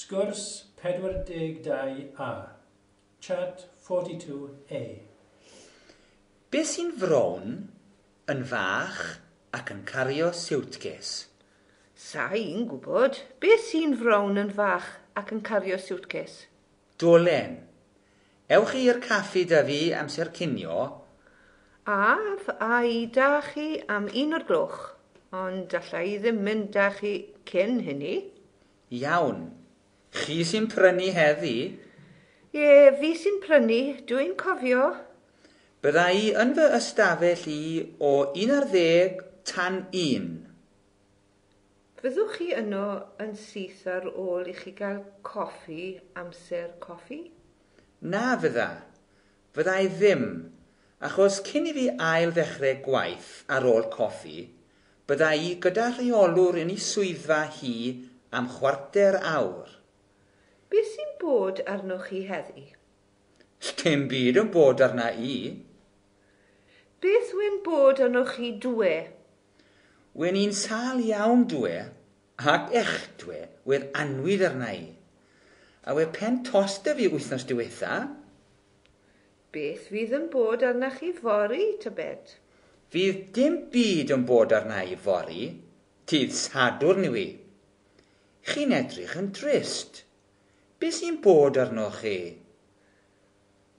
Sgwrs 42A. Chat 42A. Be sy'n frown, yn fach ac yn cario siwtces? Sa i'n gwybod. Beth sy'n frown yn fach ac yn cario siwtces? Dolen. Ewch chi i'r caffi 'da fi amser cinio. Af a i da chi am 1 o'r gloch, ond alla i ddim mynd da chi cyn hynny. Iawn. Chi sy'n prynu heddi? Ie, fi sy'n prynu, dwi'n cofio. Bydda i yn fy ystafell i o 11 tan 1. Fyddwch chi yno yn syth ar ôl i chi gael coffi amser coffi? Na fydda. Fydda i ddim, achos cyn i fi ail ddechrau gwaith ar ôl coffi, bydda i gyda rheolwr yn ei swyddfa hi am chwarter awr. Beth sy'n bod arnoch chi heddi? Dim byd yn bod arna i. Beth yw'n bod arnoch chi dwe? Wen i'n sâl iawn dwe, ac echdwe wedd annwyd arna i. A we pen tost 'da fi wythnos diwetha. Beth fydd yn bod arnoch chi fory, tybed? Fydd dim byd yn bod arna i fory. Dydd Sadwrn yw i. Chi'n edrych yn drist. Be sy'n bod arnoch chi?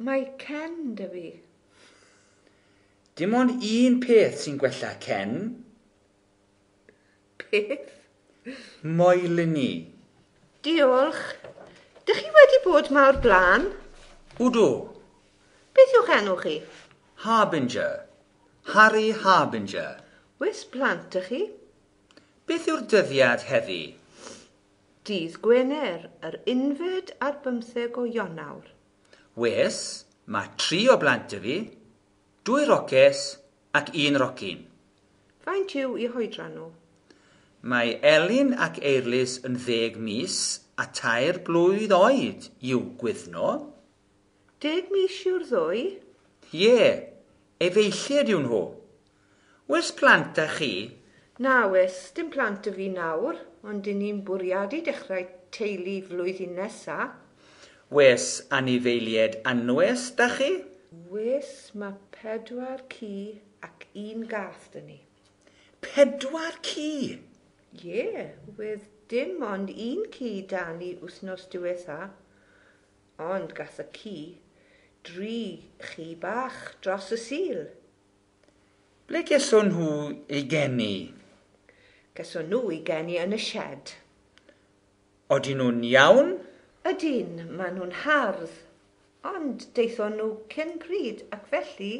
Mae cen 'da fi. Dim ond un peth sy'n gwella cen. Beth? Moelni. Diolch. Dych chi wedi bod 'ma o'r blaen? Wdw. Beth yw'ch enw chi? Harbinger. Harry Harbinger. Wes plant ych chi? Beth yw'r dyddiad heddi? Dydd Gwener, yr 21 o Ionawr. Wes, mae tri o blant 'da fi, dwy roces ac un rocyn. Faint yw eu hoedran nhw? Mae Elin ac Eirlys yn 10 mis a 3 blwydd oed i'w Gwyddno. 10 mis yw'r ddwy? Ie, efeilliaid yw nhw. Wes plant 'da chi? Na wes, dim plant 'da fi nawr, ond dyn ni'n bwriadu dechrau teulu flwyddyn nesa. Wes anifeiliaid anwes 'da chi? Wes, mae pedwar ci ac un gath 'da ni. Pedwar ci? Ie, wedd dim ond un ci 'da ni wythnos diwetha. Ond gath y ci dri chi bach dros y Sul. Ble geson nhw eu geni? Geson nhw eu geni yn y shed. Odyn nhw'n iawn? Ydyn, maen nhw'n hardd. Ond daethon nhw cyn pryd ac felly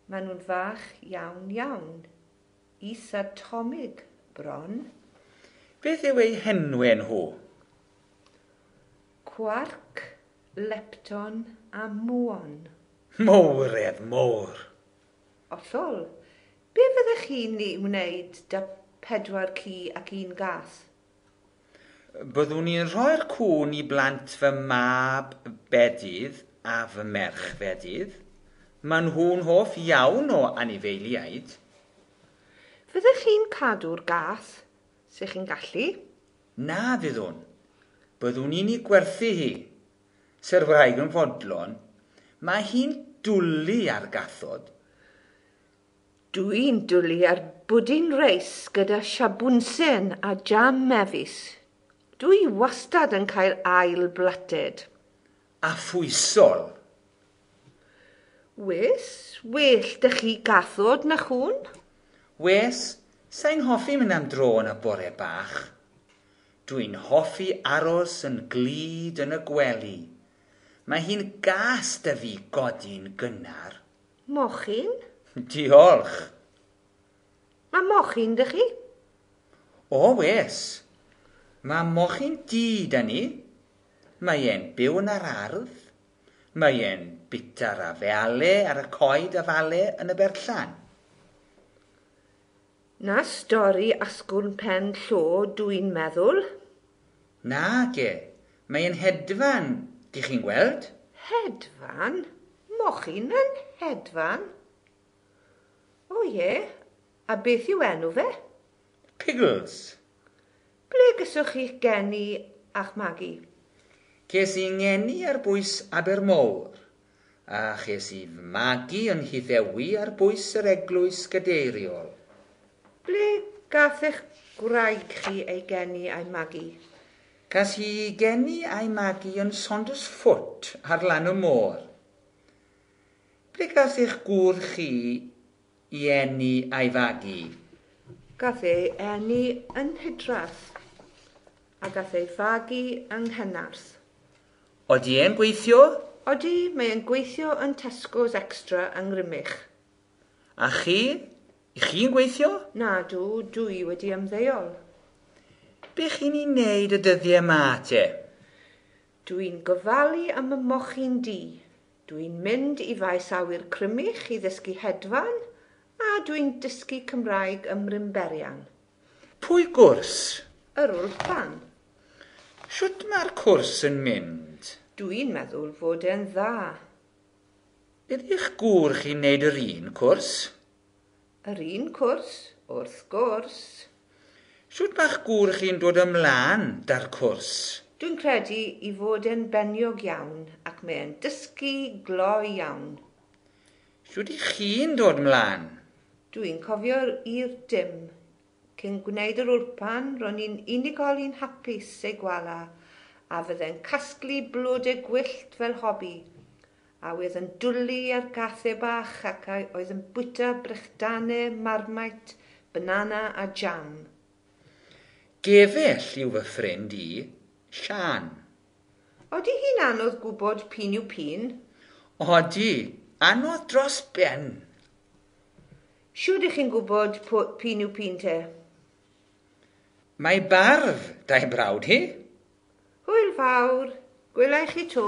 maen nhw'n fach iawn iawn. Is-atomig bron. Beth yw eu henwau nhw? Quark, lepton a muon. Mowredd mowr. Hollol. Be fyddech chi'n ei wneud 'da pedwar ci ac un gath? Byddwn i'n rhoi'r cŵn i blant fy mab bedydd a fy merch fedydd. Maen nhw'n hoff iawn o anifeiliaid. Fyddech chi'n cadw'r gath, se chi'n gallu? Na fyddwn. Byddwn i'n ei gwerthu hi. Se'r wraig yn fodlon, mae hi'n dwlu ar gathod. Dwi'n dwlu ar bwdin reis gyda siabwnsen a jam mefus. Dwi wastad yn cael ail blated. A phwysol. Wes, well 'da chi gathod na chwn? Wes, sa'n hoffi mynd am dro yn y bore bach. Dwi'n hoffi aros yn glyd yn y gwely. Mae hi'n gas 'da fi godi'n gynnar. Mochyn? Diolch. Mae mochyn 'da chi? O, wes. Mae mochyn du 'da ni. Mae e'n byw yn yr ardd. Mae e'n bita'r afeale ar y coed afale yn y berllan. Na stori asgwrn pen llo, dwi'n meddwl. Nage, mae e'n hedfan, dych chi'n gweld? Hedfan? Mochyn yn hedfan? O ie, a beth yw enw fe? Piggles. Ble geswch chi'ch geni a'ch magu? Ces i ngeni ar bwys Abermawr, a ches i fy magu yn Nhyddewi ar bwys yr eglwys gadeiriol. Ble gath eich gwraig chi ei geni a'i magu? Cas hi ei geni a'i magu yn Saundersfoot ar lan y môr. Ble gath eich gŵr chi ei eni a'i fagu? Gath ei eni yn Nhydrath a gath ei fagu yng Nghenarth. Odi e'n gweithio? Odi, mae e'n gweithio yn Tesco's Extra yng Nghrymych. A chi? I chi'n gweithio? Nadw, dwi wedi ymddeol. Be chi'n ei wneud y dyddiau 'ma te? Dwi'n gofalu am y mochyn du. Dwi'n mynd i faes awyr Crymych i ddysgu hedfan a dwi'n dysgu Cymraeg ym Mrynberian. Pwy gwrs? Yr Wlpan. Shwt mae'r cwrs yn mynd? Dwi'n meddwl fod e'n dda. Ydy'ch gŵr chi'n neud yr un cwrs? Yr un cwrs, wrth gwrs. Shwt mae'ch gŵr chi'n dod ymlaen 'da'r cwrs? Dwi'n credu i fod e'n beniog iawn ac mae e'n dysgu gloi iawn. Shwt i chi'n dod ymlaen? Dwi'n cofio i'r dim. Cyn gwneud yr wlpan, ro'n i'n unigolyn hapus ei gwala a fydde'n casglu blodau gwyllt fel hobi a oedd yn dwlu ar gathau bach ac oedd yn bwyta brechdanau, marmite, banana a jam. Gefell yw fy ffrind i, Sian. Odi hi'n anodd gwybod p'un yw p'un? Odi, anodd dros ben. Shwd ych chi'n gwybod p'un yw p'un te? Mae barf 'da'i brawd hi. Hwyl fawr, gwela i chi 'to.